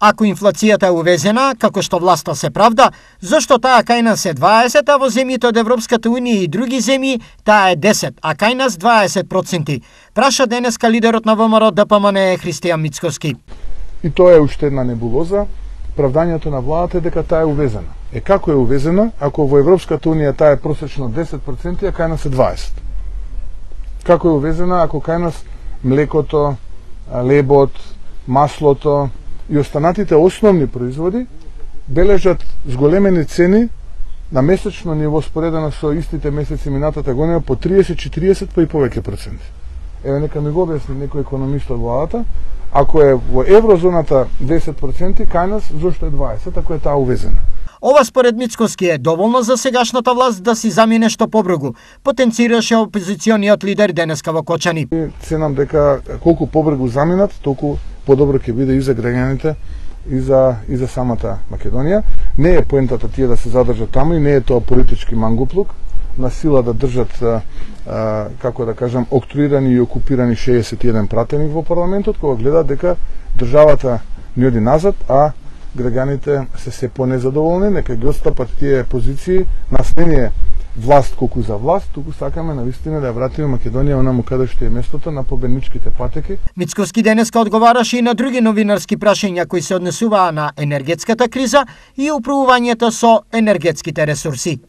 Ако инфлацијата е увезена, како што власта се правда, зашто таа кај нас е 20, а во земјите од Европската унија и други земји таа е 10, а кај нас 20%? Праша денеска лидерот на ВМРО ДПМН Христијан Мицкоски. И тоа е уште една небулоза. Правдањето на владата е дека таа е увезена. Како е увезена, ако во Европската унија таа е просечно 10%, а кај нас е 20%? Како е увезена, ако кај нас млекото, лебот, маслото и останатите основни производи бележат зголемени цени на месечно ниво споредено со истите месеци минатата година по 30-40 па и повеќе проценти. Еве нека ми го објасни некој економист од владата, ако е во еврозоната 10%, кај нас зошто е 20%, ако е таа увезена? Ова според Мицкоски е доволно за сегашната власт да си замине што побргу, потенцираше опозициониот лидер денеска во Кочани. Ценам дека колку побргу заминат, толку подобро ќе биде и за граѓаните и за самата Македонија. Не е поентата тие да се задржат таму и не е тоа политички мангуплук на сила да држат, како да кажам, октруирани и окупирани 61 пратеник во парламентот, кога гледаат дека државата не оди назад, а граѓаните се понезадоволни, нека ги отстапат тие позиции, нас не е власт колку за власт, туку сакаме навистина да ја вратиме Македонија онаму каде што е местото на победничките патеки. Мицкоски денеска одговараше и на други новинарски прашања кои се однесуваа на енергетската криза и управувањето со енергетските ресурси.